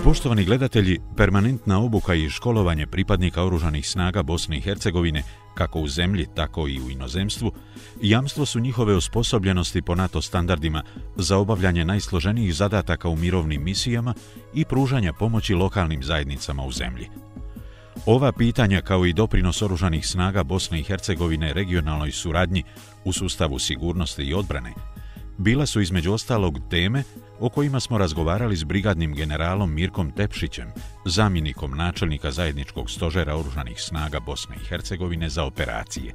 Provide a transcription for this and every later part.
Poštovani gledatelji, permanentna obuka i školovanje pripadnika oružanih snaga Bosne i Hercegovine, kako u zemlji, tako i u inozemstvu, jamstvo su njihove osposobljenosti po NATO standardima za obavljanje najsloženijih zadataka u mirovnim misijama i pružanja pomoći lokalnim zajednicama u zemlji. Ova pitanja, kao i doprinos oružanih snaga Bosne i Hercegovine regionalnoj suradnji u sustavu sigurnosti i odbrane, bila su između ostalog teme o kojima smo razgovarali s brigadnim generalom Mirkom Tepšićem, zamjenikom načelnika zajedničkog stožera oružanih snaga Bosne i Hercegovine za operacije.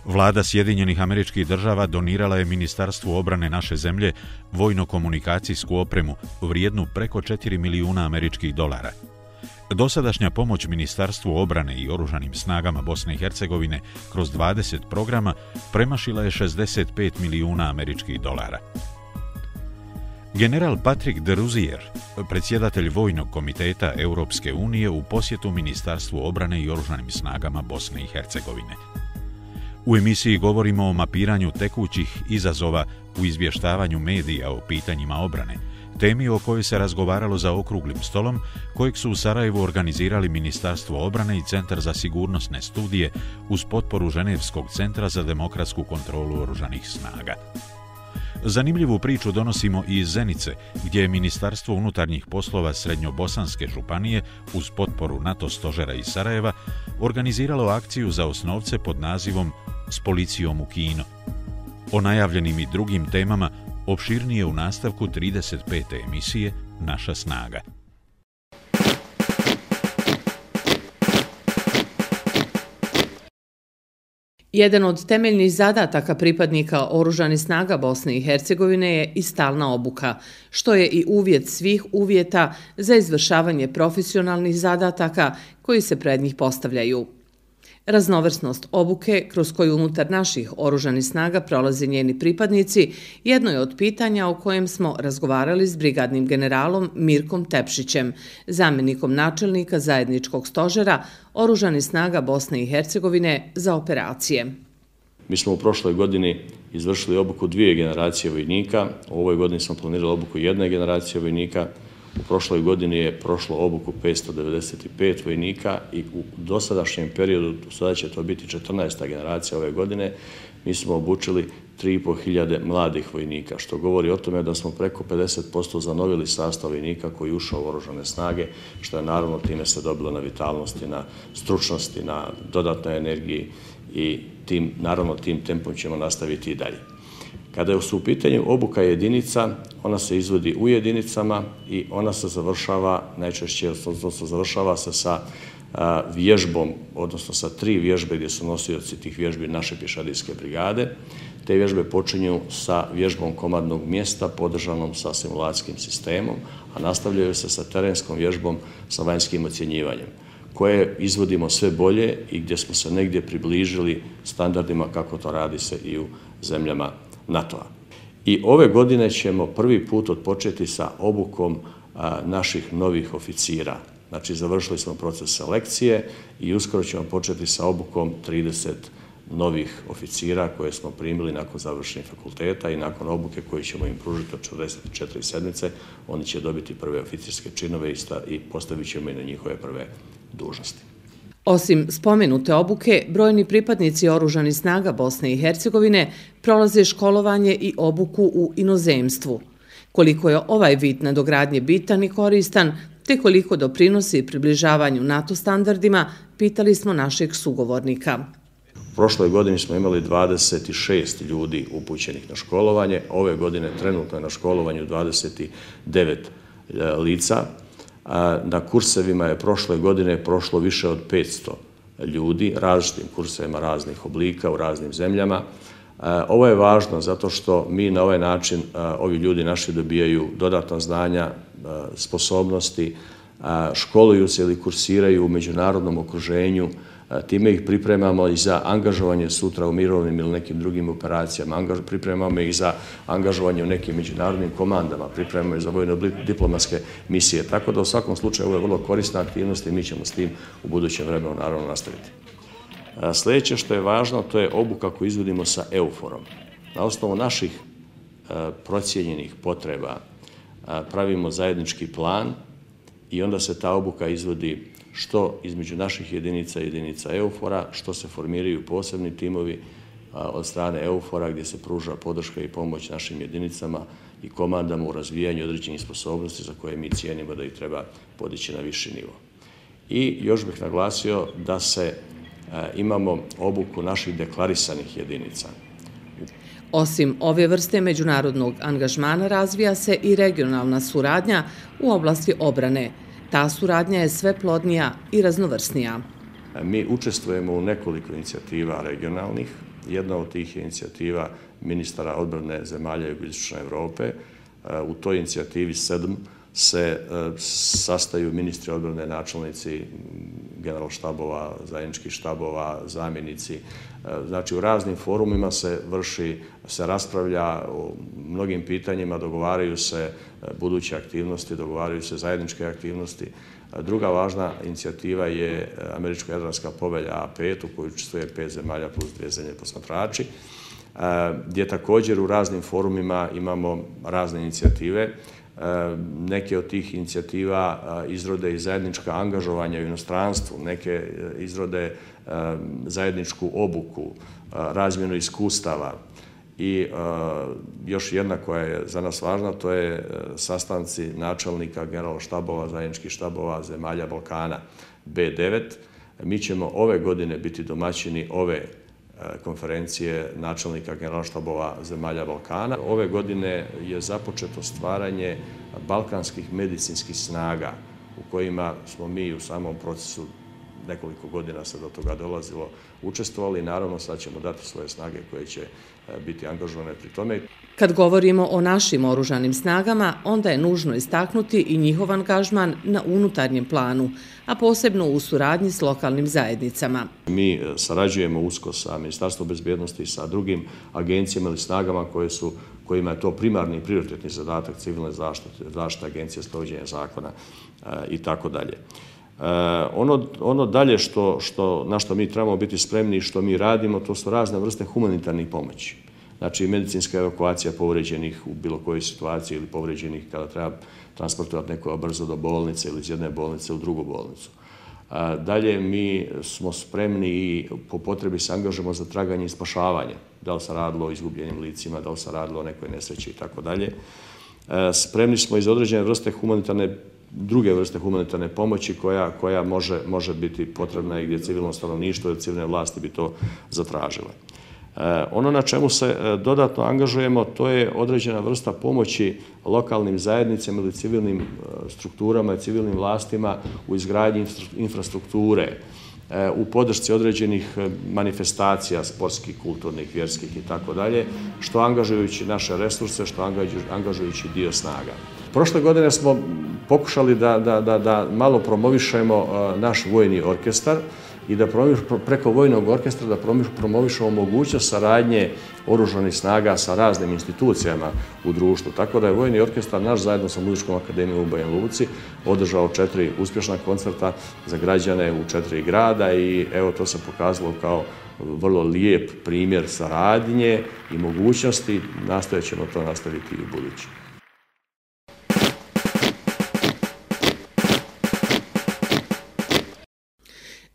Vlada Sjedinjenih Američkih Država donirala je Ministarstvu obrane naše zemlje vojno-komunikacijsku opremu vrijednu preko 4 milijuna američkih dolara. Dosadašnja pomoć Ministarstvu obrane i oružanim snagama Bosne i Hercegovine kroz 20 programa premašila je 65 milijuna američkih dolara. General Patrick de Rouzier, predsjedatelj Vojnog komiteta Europske unije u posjetu Ministarstvu obrane i oružanim snagama Bosne i Hercegovine. U emisiji govorimo o mapiranju tekućih izazova u izvještavanju medija o pitanjima obrane, temi o kojoj se razgovaralo za okruglim stolom, kojeg su u Sarajevu organizirali Ministarstvo obrane i Centar za sigurnosne studije uz potporu Ženevskog centra za demokratsku kontrolu oružanih snaga. Zanimljivu priču donosimo i iz Zenice, gdje je Ministarstvo unutarnjih poslova Srednjobosanske županije uz potporu NATO stožera iz Sarajeva organiziralo akciju za osnovce pod nazivom "S policijom u kino". O najavljenim i drugim temama opširnije u nastavku 35. emisije Naša snaga. Jedan od temeljnih zadataka pripadnika oružanih snaga Bosne i Hercegovine je i stalna obuka, što je i uvjet svih uvjeta za izvršavanje profesionalnih zadataka koji se pred njih postavljaju. Raznovrsnost obuke, kroz koju unutar naših oružanih snaga prolaze njeni pripadnici, jedno je od pitanja o kojem smo razgovarali s brigadnim generalom Mirkom Tepšićem, zamjenikom načelnika zajedničkog stožera oružanih snaga Bosne i Hercegovine za operacije. Mi smo u prošloj godini izvršili obuku 2 generacije vojnika, u ovoj godini smo planirali obuku 1 generacije vojnika. U prošloj godini je prošlo obuku 595 vojnika i u dosadašnjem periodu, sada će to biti 14. generacija ove godine, mi smo obučili 3.500 mladih vojnika, što govori o tome da smo preko 50% zanovili sastav vojnika koji je ušao u oružane snage, što je naravno time se dobilo na vitalnosti, na stručnosti, na dodatnoj energiji i naravno tim tempom ćemo nastaviti i dalje. Kada su u pitanju obuka jedinica, ona se izvodi u jedinicama i ona se završava najčešće, odnosno završava se sa vježbom, odnosno sa 3 vježbe gdje su nosioci tih vježbi naše pješadijske brigade. Te vježbe počinju sa vježbom komandnog mjesta podržanom sa simulacijskim sistemom, a nastavljaju se sa terenskom vježbom sa vanjskim ocjenjivanjem, koje izvodimo sve bolje i gdje smo se negdje približili standardima kako to radi se i u zemljama NATO-a. I ove godine ćemo prvi put odpočeti sa obukom naših novih oficira. Znači, završili smo proces selekcije i uskoro ćemo početi sa obukom 30 novih oficira koje smo primili nakon završenih fakulteta i nakon obuke koju ćemo im pružiti od 44 sedmice, oni će dobiti prve oficirske činove i postavit ćemo i na njihove prve dužnosti. Osim spomenute obuke, brojni pripadnici oružanih snaga Bosne i Hercegovine prolaze školovanje i obuku u inozemstvu. Koliko je ovaj vid nadogradnje bitan i koristan, te koliko doprinosi približavanju NATO standardima, pitali smo našeg sugovornika. U prošloj godini smo imali 26 ljudi upućenih na školovanje, ove godine trenutno je na školovanju 29 lica. Na kursevima je prošle godine prošlo više od 500 ljudi, različitim kursevima raznih oblika u raznim zemljama. Ovo je važno zato što mi na ovaj način, ovi ljudi naši dobijaju dodatna znanja, sposobnosti, školuju se ili kursiraju u međunarodnom okruženju, time ih pripremamo i za angažovanje sutra u mirovnim ili nekim drugim operacijama, pripremamo ih za angažovanje u nekim međunarodnim komandama, pripremamo ih za vojno-diplomatske misije. Tako da u svakom slučaju ovo je vrlo korisna aktivnost i mi ćemo s tim u budućem vremenu naravno nastaviti. Sljedeće što je važno, to je obuka koju izvodimo sa EUFOR-om. Na osnovu naših procijenjenih potreba pravimo zajednički plan i onda se ta obuka izvodi što između naših jedinica i jedinica EUFOR-a, što se formiraju posebni timovi od strane EUFOR-a gdje se pruža podrška i pomoć našim jedinicama i komandama u razvijanju određenih sposobnosti za koje mi cijenimo da ih treba podići na viši nivo. I još bih naglasio da imamo obuku naših deklarisanih jedinica. Osim ove vrste međunarodnog angažmana razvija se i regionalna suradnja u oblasti obrane. Ta suradnja je sve plodnija i raznovrsnija. Mi učestvujemo u nekoliko inicijativa regionalnih. Jedna od tih je inicijativa ministara odbrane zemalja jugoistočne Europe. U toj inicijativi 7 se sastaju ministri odbrane, načelnici generalštabova, zajedničkih štabova, zamjenici. Znači u raznim forumima se raspravlja o mnogim pitanjima, dogovaraju se buduće aktivnosti, dogovaraju se zajedničke aktivnosti. Druga važna inicijativa je Američko-jadranska povelja A5 u kojoj učestvuje 5 zemalja plus 2 zemlje posmatrači, gdje također u raznim forumima imamo razne inicijative. Neke od tih inicijativa izrode i zajednička angažovanja u inostranstvu, neke izrode zajedničku obuku, razmjenu iskustava i još jedna koja je za nas važna, to je sastanci načelnika generalštabova, zajedničkih štabova zemalja Balkana B9. Mi ćemo ove godine biti domaćini ove konferencije načelnika generalštabova zemalja Balkana. Ove godine je započeto stvaranje balkanskih medicinskih snaga u kojima smo mi u samom procesu nekoliko godina se do toga dolazilo učestvovali i naravno sad ćemo dati svoje snage koje će biti angažovane pri tome. Kad govorimo o našim oružanim snagama, onda je nužno istaknuti i njihov angažman na unutarnjem planu, a posebno u suradnji s lokalnim zajednicama. Mi sarađujemo usko sa Ministarstvom bezbjednosti i sa drugim agencijama ili snagama kojima je to primarni i prioritetni zadatak civilne zaštite, agencije sprovođenja zakona i tako dalje. Ono dalje na što mi trebamo biti spremni i što mi radimo, to su razne vrste humanitarnih pomoći. Znači medicinska evakuacija povređenih u bilo kojoj situaciji ili povređenih kada treba transportovati nekoga brzo do bolnice ili iz jedne bolnice u drugu bolnicu. Dalje mi smo spremni i po potrebi se angažujemo za traganje i spašavanje. Da li se radilo o izgubljenim licima, da li se radilo o nekoj nesreći i tako dalje. Spremni smo iz određene vrste druge vrste humanitarne pomoći koja može biti potrebna i gdje civilno stanovništvo ili civilne vlasti bi to zatražile. Ono na čemu se dodatno angažujemo, to je određena vrsta pomoći lokalnim zajednicama ili civilnim strukturama i civilnim vlastima u izgradnji infrastrukture, u podršci određenih manifestacija sportskih, kulturnih, vjerskih i tako dalje, što angažujući naše resurse, što angažujući dio snaga. Prošle godine smo pokušali da malo promovišemo naš vojni orkestar i da preko vojnog orkestra da promovišemo mogućnost saradnje oružanih snaga sa raznim institucijama u društvu. Tako da je vojni orkestar naš zajedno sa Muzičkom akademijom u Banja Luci održao 4 uspješna koncerta za građane u 4 grada i evo to se pokazalo kao vrlo lijep primjer saradnje i mogućnosti. Nastojat ćemo to nastaviti i u budući.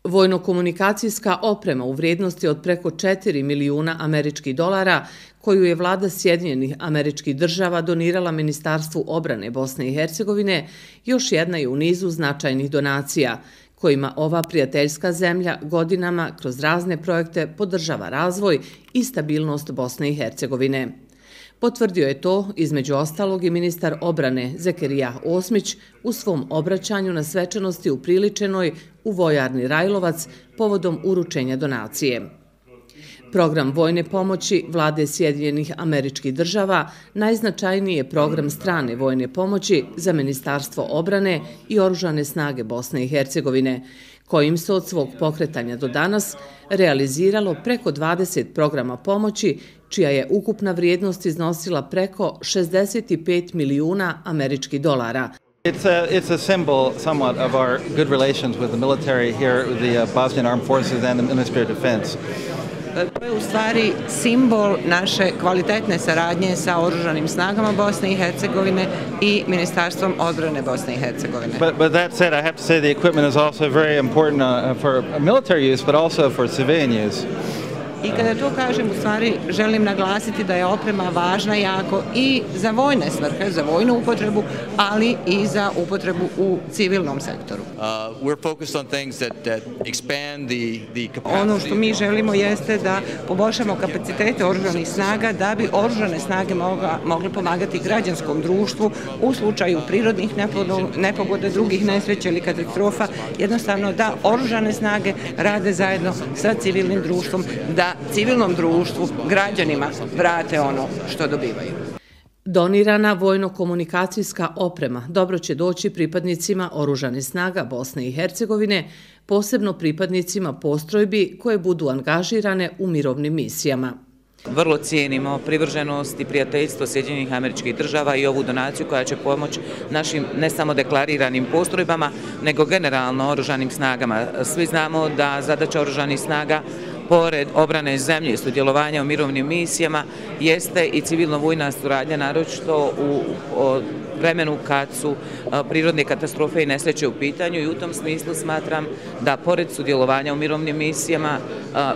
Vojno-komunikacijska oprema u vrijednosti od preko 4 milijuna američkih dolara, koju je vlada Sjedinjenih Američkih Država donirala Ministarstvu obrane Bosne i Hercegovine, još jedna je u nizu značajnih donacija, kojima ova prijateljska zemlja godinama kroz razne projekte podržava razvoj i stabilnost Bosne i Hercegovine. Potvrdio je to, između ostalog, i ministar obrane Zekerija Osmić u svom obraćanju na svečanosti upriličenoj u vojarni Rajlovac povodom uručenja donacije. Program vojne pomoći vlade Sjedinjenih Američkih Država najznačajniji je program strane vojne pomoći za Ministarstvo obrane i Oružane snage Bosne i Hercegovine, kojim se od svog pokretanja do danas realiziralo preko 20 programa pomoći, čija je ukupna vrijednost iznosila preko 65 milijuna američkih dolara. It's a symbol somewhat of our good relations with the military here, with the Bosnian Armed Forces and the Ministry of Defense. To je u stvari simbol naše kvalitetne saradnje sa Oružanim snagama Bosne i Hercegovine i Ministarstvom odbrane Bosne i Hercegovine. But that said, I have to say the equipment is also very important for military use, but also for civilian use. I kada to kažem, u stvari želim naglasiti da je oprema važna jako i za vojne svrhe, za vojnu upotrebu, ali i za upotrebu u civilnom sektoru. Ono što mi želimo jeste da poboljšamo kapacitete oružanih snaga da bi oružane snage mogle pomagati građanskom društvu u slučaju prirodnih nepogoda, drugih nesreća ili katastrofa, jednostavno da oružane snage rade zajedno sa civilnim društvom, da civilnom društvu, građanima vrate ono što dobivaju. Donirana vojno-komunikacijska oprema dobro će doći pripadnicima Oružanih snaga Bosne i Hercegovine, posebno pripadnicima postrojbi koje budu angažirane u mirovnim misijama. Vrlo cijenimo privrženost i prijateljstvo Sjedinjenih Američkih Država i ovu donaciju koja će pomoći našim ne samo deklariranim postrojbama, nego generalno oružanim snagama. Svi znamo da zadaća oružanih snaga pored obrane zemlje i sudjelovanja u mirovnim misijama jeste i civilno-vojna suradnja, naročito u vremenu kad su prirodne katastrofe i nesreće u pitanju, i u tom smislu smatram da pored sudjelovanja u mirovnim misijama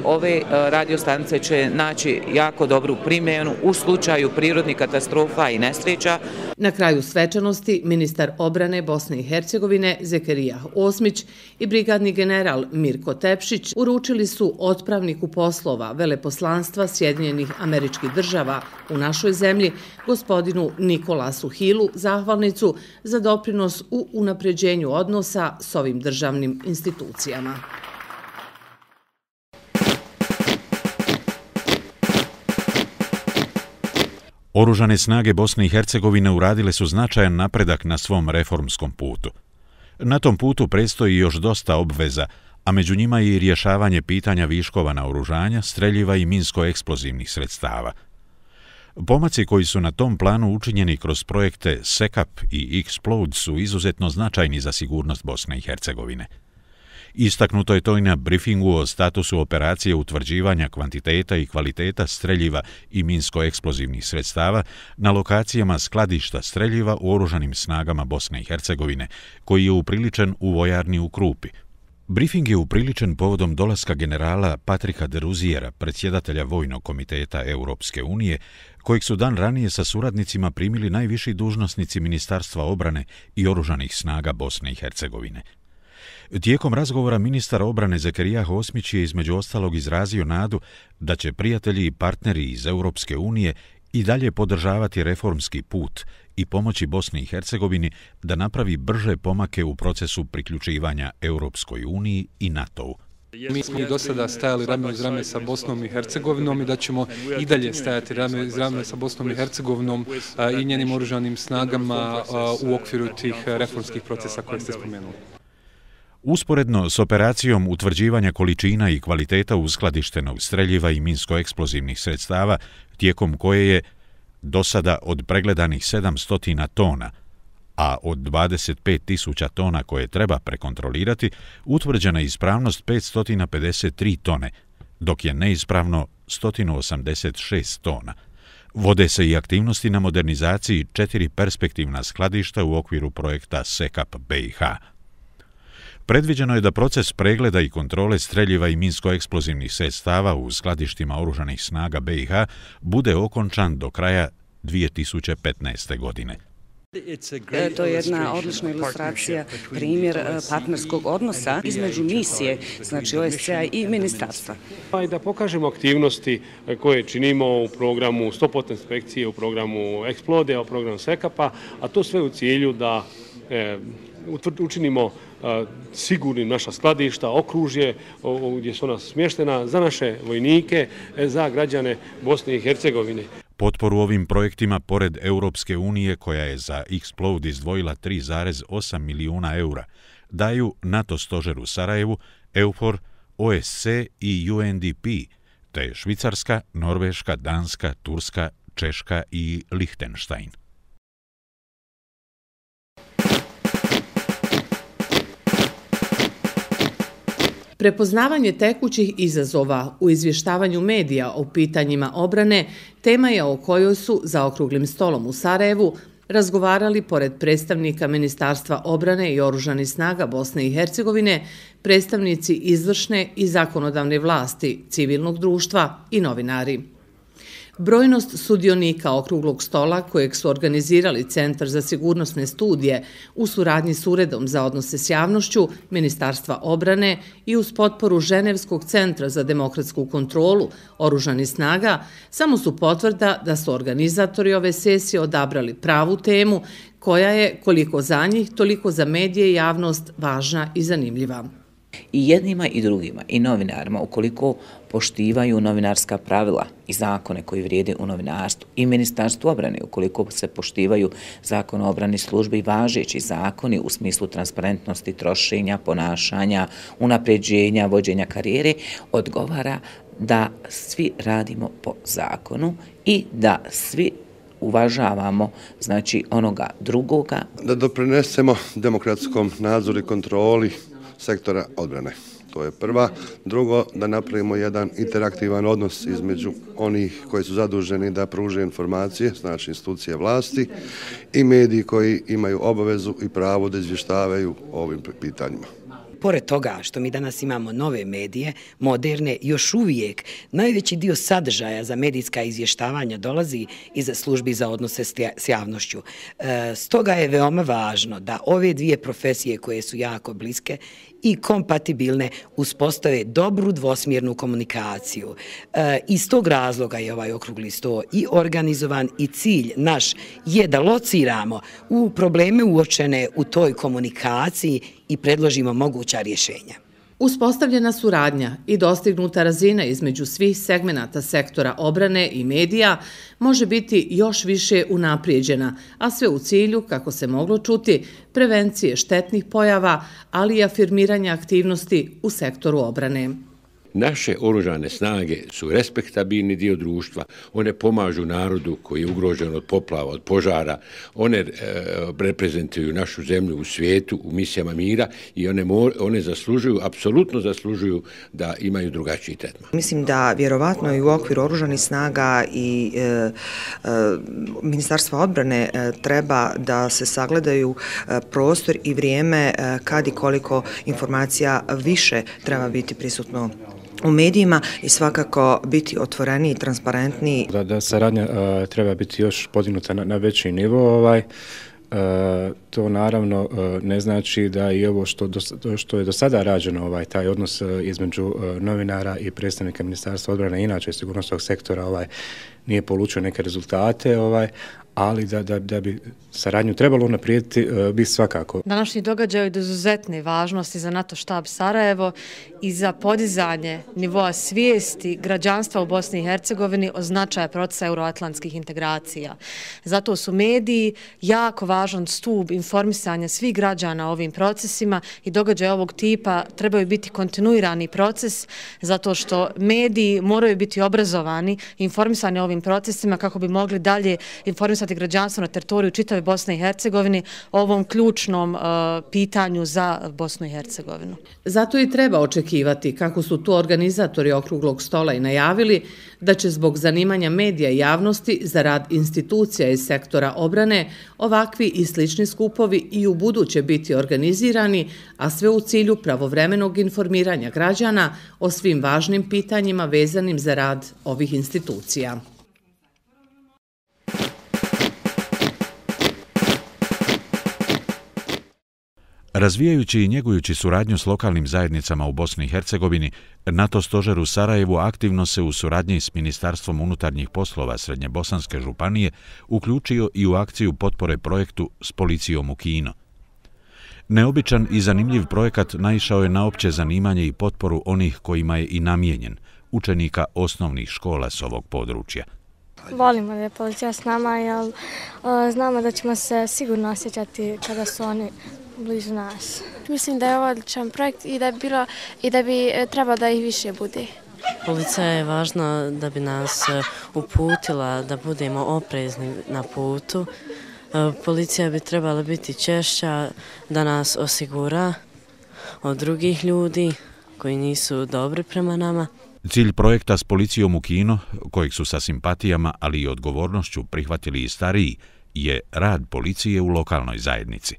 ove radiostanice će naći jako dobru primjenu u slučaju prirodnih katastrofa i nesreća. Na kraju svečanosti ministar obrane Bosne i Hercegovine Zekerija Osmić i brigadni general Mirko Tepšić uručili su otpravniku poslova veleposlanstva Sjedinjenih Američkih Država u našoj zemlji, gospodinu Nikolasu Hilu, zahvalnicu za doprinos u unapređenju odnosa s ovim državnim institucijama. Oružane snage Bosne i Hercegovine uradile su značajan napredak na svom reformskom putu. Na tom putu predstoji još dosta obveza, a među njima i rješavanje pitanja viškova naoružanja, streljiva i minsko-eksplozivnih sredstava. Pomaci koji su na tom planu učinjeni kroz projekte SECAP i Explode su izuzetno značajni za sigurnost Bosne i Hercegovine. Istaknuto je to i na briefingu o statusu operacije utvrđivanja kvantiteta i kvaliteta streljiva i minsko-eksplozivnih sredstava na lokacijama skladišta streljiva u Oružanim snagama Bosne i Hercegovine, koji je upriličen u vojarni u Krupi. Briefing je upriličen povodom dolaska generala Patrika de Ruziera, predsjedatelja Vojnog komiteta Europske unije, kojeg su dan ranije sa suradnicima primili najviši dužnosnici Ministarstva obrane i Oružanih snaga Bosne i Hercegovine. Tijekom razgovora ministar obrane Zekerija Osmić je između ostalog izrazio nadu da će prijatelji i partneri iz Europske unije i dalje podržavati reformski put i pomoći Bosni i Hercegovini da napravi brže pomake u procesu priključivanja Europskoj uniji i NATO-u. Mi smo i do sada stajali rame uz rame sa Bosnom i Hercegovinom i da ćemo i dalje stajati rame uz rame sa Bosnom i Hercegovinom i njenim oružanim snagama u okviru tih reformskih procesa koje ste spomenuli. Usporedno s operacijom utvrđivanja količina i kvaliteta uskladištenog streljiva i minsko-eksplozivnih sredstava, tijekom koje je do sada od pregledanih 700 tona, a od 25.000 tona koje treba prekontrolirati, utvrđena ispravnost 553 tone, dok je neispravno 186 tona. Vode se i aktivnosti na modernizaciji 4 perspektivna skladišta u okviru projekta SECAP BiH. Predviđeno je da proces pregleda i kontrole streljiva i minsko-eksplozivnih sredstava u skladištima Oružanih snaga BiH bude okončan do kraja 2015. godine. To je jedna odlična ilustracija, primjer partnerskog odnosa između misije, znači OSCE-a i ministarstva. I da pokažemo aktivnosti koje činimo u programu 100% inspekcije, u programu Explode, u programu SECAP-a, a to sve u cilju da učinimo sigurnim naša skladišta, okružje gdje su ona smještena za naše vojnike, za građane Bosne i Hercegovine. Potporu ovim projektima, pored Europske unije, koja je za Explode izdvojila 3,8 milijuna eura, daju NATO stožer u Sarajevu, EUFOR, OSCE i UNDP, te Švicarska, Norveška, Danska, Turska, Češka i Lihtenštajn. Prepoznavanje tekućih izazova u izvještavanju medija o pitanjima obrane tema je o kojoj su za okruglim stolom u Sarajevu razgovarali pored predstavnika Ministarstva obrane i oružanih snaga Bosne i Hercegovine, predstavnici izvršne i zakonodavne vlasti, civilnog društva i novinari. Brojnost sudionika okruglog stola kojeg su organizirali Centar za sigurnosne studije u suradnji s Uredom za odnose s javnošću Ministarstva obrane i uz potporu Ženevskog centra za demokratsku kontrolu oružanih snaga samo su potvrda da su organizatori ove sesije odabrali pravu temu koja je koliko za njih, toliko za medije i javnost važna i zanimljiva. I jednima i drugima, i novinarima, ukoliko poštivaju novinarska pravila i zakone koji vrijede u novinarstvu, i Ministarstvu obrane, ukoliko se poštivaju zakon o obrani službi i važeći zakoni u smislu transparentnosti, trošenja, ponašanja, unapređenja, vođenja karijere, odgovara da svi radimo po zakonu i da svi uvažavamo, znači, onoga drugoga. Da doprinesemo demokratskom nadzoru i kontroli sektora odbrane. To je prva. Drugo, da napravimo jedan interaktivan odnos između onih koji su zaduženi da pruže informacije, znači institucije vlasti, i mediji koji imaju obavezu i pravo da izvještavaju o ovim pitanjima. Pored toga što mi danas imamo nove medije, moderne, još uvijek najveći dio sadržaja za medijska izvještavanja dolazi iz službi za odnose s javnošću. Stoga je veoma važno da ove dvije profesije koje su jako bliske i kompatibilne uspostave dobru dvosmjernu komunikaciju. Iz tog razloga je ovaj okrugli sto i organizovan i cilj naš je da lociramo u probleme uočene u toj komunikaciji i predložimo moguća rješenja. Uspostavljena suradnja i dostignuta razina između svih segmenata sektora obrane i medija može biti još više unaprijeđena, a sve u cilju, kako se moglo čuti, prevencije štetnih pojava, ali i afirmiranja aktivnosti u sektoru obrane. Naše oružane snage su respektabilni dio društva, one pomažu narodu koji je ugrožen od poplava, od požara, one reprezentuju našu zemlju u svijetu, u misijama mira i one zaslužuju, apsolutno zaslužuju da imaju drugačiji tretman. Mislim da vjerovatno i u okviru oružanih snaga i Ministarstva odbrane treba da se sagledaju prostor i vrijeme kad i koliko informacija više treba biti prisutno u medijima i svakako biti otvoreniji i transparentniji. Da saradnja treba biti još podignuta na veći nivo. To naravno ne znači da i ovo što je do sada rađeno, taj odnos između novinara i predstavnika Ministarstva odbrane, inače sigurnosnog sektora, nije polučio neke rezultate, ali da bi saradnju trebalo unaprijediti, bi svakako. Današnji događaj je od izuzetne važnosti za NATO štab Sarajevo i za podizanje nivoa svijesti građanstva u Bosni i Hercegovini o značaju procesa euroatlantskih integracija. Zato su mediji jako važan stup informisanja svih građana o ovim procesima i događaj ovog tipa trebaju biti kontinuirani proces zato što mediji moraju biti obrazovani i informisani o ovim procesima kako bi mogli dalje informisati građanstvo na teritoriju čitave Bosne i Hercegovine o ovom ključnom pitanju za Bosnu i Hercegovinu. Zato i treba očekivati, kako su tu organizatori okruglog stola i najavili, da će zbog zanimanja medija i javnosti za rad institucija iz sektora obrane ovakvi i slični skupovi i u buduće biti organizirani, a sve u cilju pravovremenog informiranja građana o svim važnim pitanjima vezanim za rad ovih institucija. Razvijajući i njegujući suradnju s lokalnim zajednicama u Bosni i Hercegovini, NATO stožer u Sarajevu aktivno se u suradnji s Ministarstvom unutarnjih poslova Srednjebosanske županije uključio i u akciju potpore projektu s policijom u Kino. Neobičan i zanimljiv projekat naišao je na opće zanimanje i potporu onih kojima je i namijenjen, učenika osnovnih škola s ovog područja. Volimo da je policija s nama, jer znamo da ćemo se sigurno osjećati kada su oni blizu nas. Mislim da je ovo odličan projekt i da bi trebalo da ih više bude. Policija je važna da bi nas uputila da budemo oprezni na putu. Policija bi trebala biti češća da nas osigura od drugih ljudi koji nisu dobri prema nama. Cilj projekta s policijom u Kino, kojeg su sa simpatijama, ali i odgovornošću prihvatili i stariji, je rad policije u lokalnoj zajednici.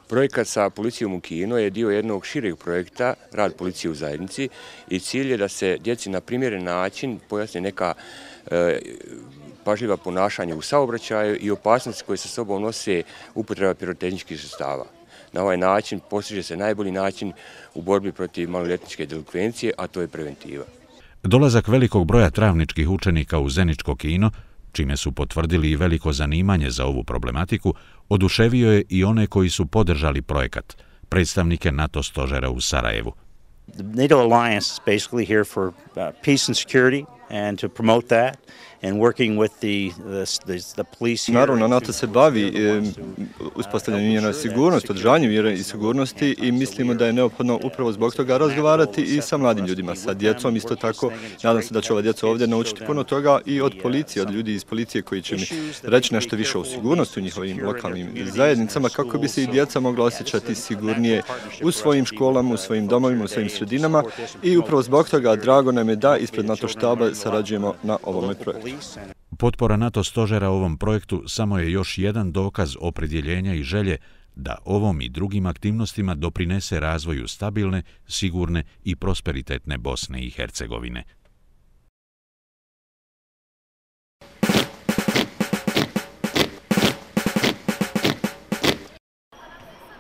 Projekat sa policijom u Kino je dio jednog šireg projekta, rad policije u zajednici, i cilj je da se djeci na primjeren način pojasne neka pažljiva ponašanja u saobraćaju i opasnosti koje sa sobom nose upotreba pirotehničkih sredstava. Na ovaj način postiže se najbolji način u borbi protiv maloljetničke delikvencije, a to je preventiva. Dolazak velikog broja travničkih učenika u Zeničko Kino, čime su potvrdili i veliko zanimanje za ovu problematiku, oduševio je i one koji su podržali projekat, predstavnike NATO stožera u Sarajevu. The NATO alliance is basically here for peace and security and to promote that. And working with the police. Naravno, NATO se bavi uspostavljanjem mjera sigurnosti, održavanjem mjera i sigurnosti i mislimo da je neophodno upravo zbog toga razgovarati i sa mladim ljudima, sa djecom isto tako. Nadam se da će ova djeca ovdje naučiti puno toga i od policije, od ljudi iz policije koji će mi reći nešto više o sigurnosti u njihovim lokalnim zajednicama, kako bi se i djeca mogla osjećati sigurnije u svojim školama, u svojim domovima, u svojim sredinama i upravo zbog toga drago nam je da ispred NATO štaba sarađujemo na ovome projektu. Potpora NATO stožera ovom projektu samo je još jedan dokaz opredjeljenja i želje da ovom i drugim aktivnostima doprinese razvoju stabilne, sigurne i prosperitetne Bosne i Hercegovine.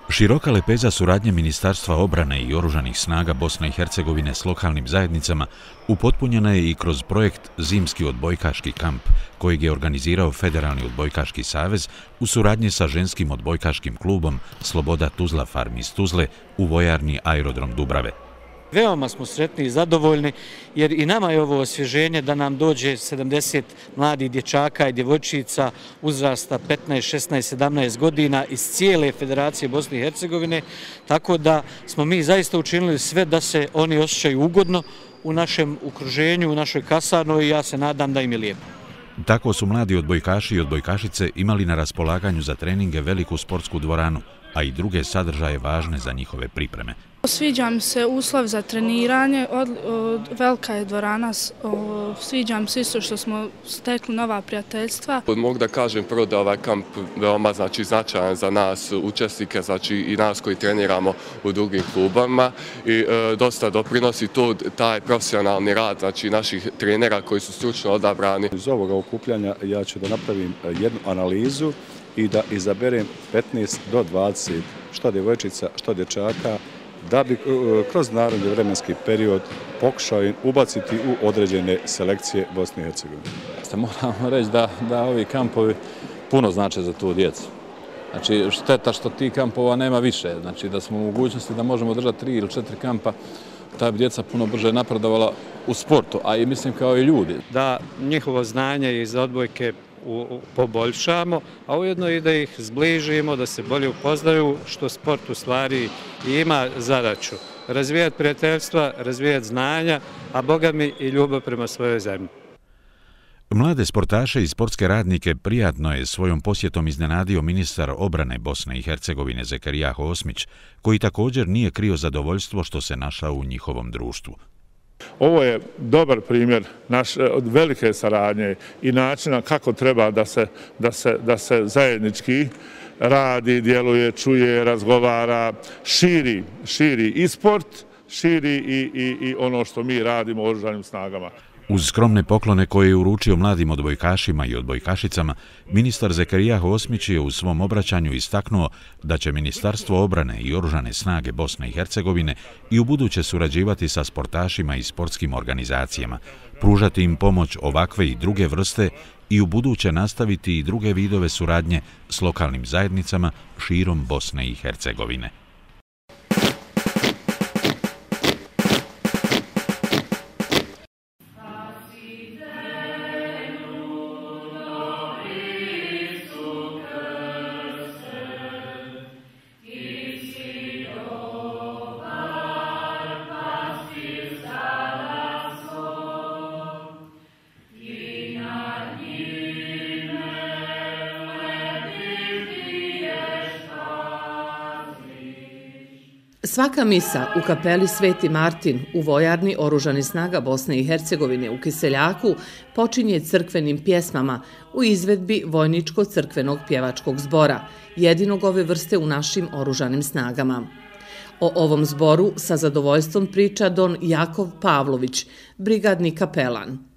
Široka lepeza suradnje Ministarstva obrane i oružanih snaga Bosne i Hercegovine s lokalnim zajednicama upotpunjena je i kroz projekt Zimski odbojkaški kamp, kojeg je organizirao Federalni odbojkaški savez u suradnji sa ženskim odbojkaškim klubom Sloboda Tuzla Farm iz Tuzle u vojarni Aerodrom Dubrave. Veoma smo sretni i zadovoljni jer i nama je ovo osvježenje da nam dođe 70 mladih dječaka i djevojčica uzrasta 15, 16, 17 godina iz cijele Federacije Bosne i Hercegovine, tako da smo mi zaista učinili sve da se oni osjećaju ugodno u našem okruženju, u našoj kasarnoj i ja se nadam da im je lijepo. Tako su mladi odbojkaši i odbojkašice imali na raspolaganju za treninge veliku sportsku dvoranu, a i druge sadržaje važne za njihove pripreme. Sviđa mi se uslov za treniranje, velika je dvorana, sviđa mi se isto što smo stekli nova prijateljstva. Mogu da kažem prvo da ovaj kamp veoma značajan za nas učesnike, i nas koji treniramo u drugim klubama i dosta doprinosi taj profesionalni rad naših trenera koji su stručno odabrani. Iz ovoga okupljanja ja ću da napravim jednu analizu i da izaberem 15 do 20 što djevojčica, što dječaka, da bi kroz naredni vremenski period pokušao im ubaciti u određene selekcije Bosne i Hercegovine. Moramo reći da ovi kampovi puno znače za tu djecu. Znači, šteta što tih kampova nema više. Znači, da smo u mogućnosti da možemo držati 3 ili 4 kampa, ta bi djeca puno brže napredovala u sportu, a i mislim kao i ljudi. Da njihovo znanje iz odbojke poboljšamo, a ujedno i da ih zbližimo, da se bolje upoznaju, što sport u stvari ima zadaću. Razvijati prijateljstva, razvijati znanja, a Boga mi i ljubav prema svojoj zemlji. Mlade sportaše i sportske radnike prijatno je svojom posjetom iznenadio ministar obrane Bosne i Hercegovine Zekerijaho Osmić, koji također nije krio zadovoljstvo što se našao u njihovom društvu. Ovo je dobar primjer velike saradnje i načina kako treba da se zajednički radi, djeluje, čuje, razgovara, širi i sport, širi i ono što mi radimo u oružanim snagama. Uz skromne poklone koje je uručio mladim odbojkašima i odbojkašicama, ministar Zekerijaho Osmić je u svom obraćanju istaknuo da će Ministarstvo obrane i oružane snage Bosne i Hercegovine i ubuduće surađivati sa sportašima i sportskim organizacijama, pružati im pomoć ovakve i druge vrste i ubuduće nastaviti i druge vidove suradnje s lokalnim zajednicama širom Bosne i Hercegovine. Svaka misa u kapeli Sveti Martin u vojarni Oružanih snaga Bosne i Hercegovine u Kiseljaku počinje crkvenim pjesmama u izvedbi Vojničko-crkvenog pjevačkog zbora, jedinog ove vrste u našim oružanim snagama. O ovom zboru sa zadovoljstvom priča don Jakov Pavlović, brigadni kapelan.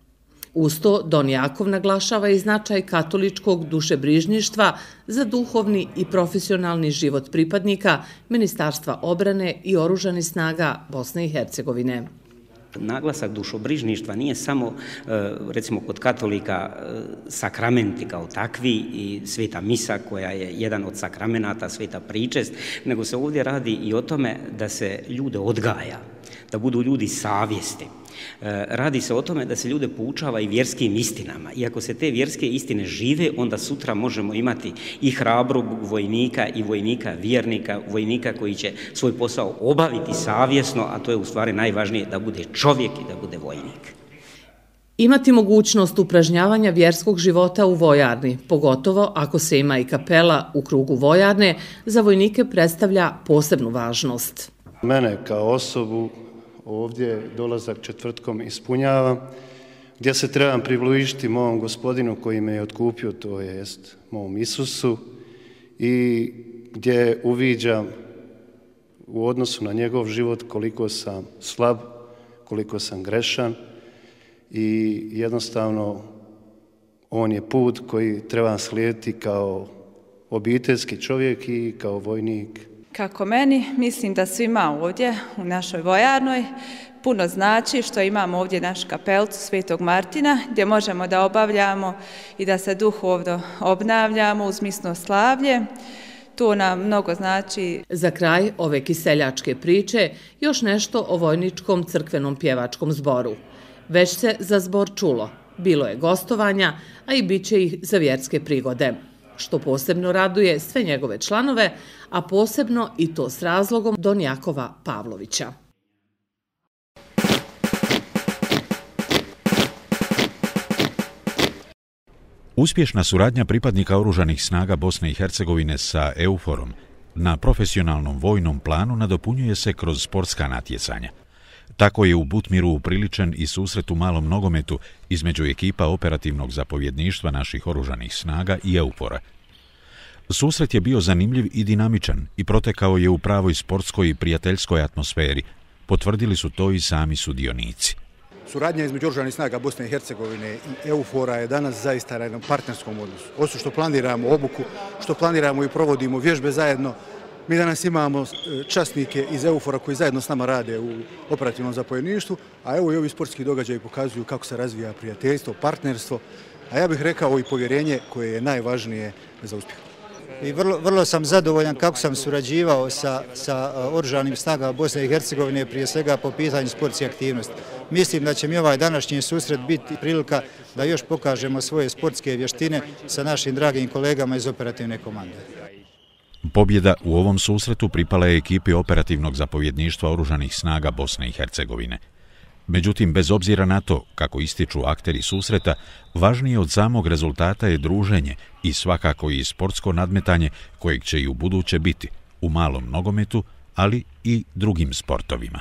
Uz to, don Jakov naglašava i značaj katoličkog dušebrižništva za duhovni i profesionalni život pripadnika Ministarstva obrane i oružanih snaga Bosne i Hercegovine. Naglasak dušobrižništva nije samo, recimo kod katolika, sakramenti kao takvi i sveta misa koja je jedan od sakramenata, sveta pričest, nego se ovdje radi i o tome da se ljude odgaja, da budu ljudi savjesti. Radi se o tome da se ljude poučava i vjerskim istinama. I ako se te vjerske istine žive, onda sutra možemo imati i hrabrog vojnika i vojnika vjernika, vojnika koji će svoj posao obaviti savjesno, a to je u stvari najvažnije, da bude čovjek i da bude vojnik. Imati mogućnost upražnjavanja vjerskog života u vojarni, pogotovo ako se ima i kapela u krugu vojarne, za vojnike predstavlja posebnu važnost. Mene kao osobu ovdje dolazak četvrtkom ispunjava, gdje se trebam približiti mom Gospodinu koji me je otkupio, to jest mom Isusu, i gdje uviđam u odnosu na njegov život koliko sam slab, koliko sam grešan i jednostavno on je put koji trebam slijediti kao obiteljski čovjek i kao vojnik. Kako meni, mislim da svima ovdje u našoj vojarnoj puno znači što imamo ovdje našu kapelcu Svetog Martina gdje možemo da obavljamo i da se duhovno obnavljamo uz misno slavlje. To nam mnogo znači. Za kraj ove kiseljačke priče još nešto o Vojničkom crkvenom pjevačkom zboru. Već se za zbor čulo, bilo je gostovanja, a i bit će ih za vjerske prigode, što posebno raduje sve njegove članove, a posebno i to s razlogom don Jakova Pavlovića. Uspješna suradnja pripadnika Oružanih snaga Bosne i Hercegovine sa EUFOR-om na profesionalnom vojnom planu nadopunjuje se kroz sportska natjecanja. Tako je u Butmiru upriličen i susret u malom nogometu između ekipa operativnog zapovjedništva naših oružanih snaga i EUFOR-a. Susret je bio zanimljiv i dinamičan i protekao je u pravoj sportskoj i prijateljskoj atmosferi. Potvrdili su to i sami sudionici. Suradnja između Oružanih snaga Bosne i Hercegovine i EUFOR-a je danas zaista na jednom partnerskom odnosu. Osim što planiramo obuku, što planiramo i provodimo vježbe zajedno, mi danas imamo časnike iz EUFOR-a koji zajedno s nama rade u operativnom zapovjedništvu, a evo i ovi sportski događaji pokazuju kako se razvija prijateljstvo, partnerstvo, a ja bih rekao i povjerenje koje je najvažnije za uspjeh. I vrlo sam zadovoljan kako sam surađivao sa Oružanim snagama Bosne i Hercegovine, prije svega po pitanju sportske aktivnosti. Mislim da će mi ovaj današnji susret biti prilika da još pokažemo svoje sportske vještine sa našim dragim kolegama iz operativne komande. Pobjeda u ovom susretu pripala je ekipi operativnog zapovjedništva Oružanih snaga Bosne i Hercegovine. Međutim, bez obzira na to kako ističu akteri susreta, važnije od samog rezultata je druženje i svakako i sportsko nadmetanje kojeg će i u buduće biti u malom nogometu, ali i drugim sportovima.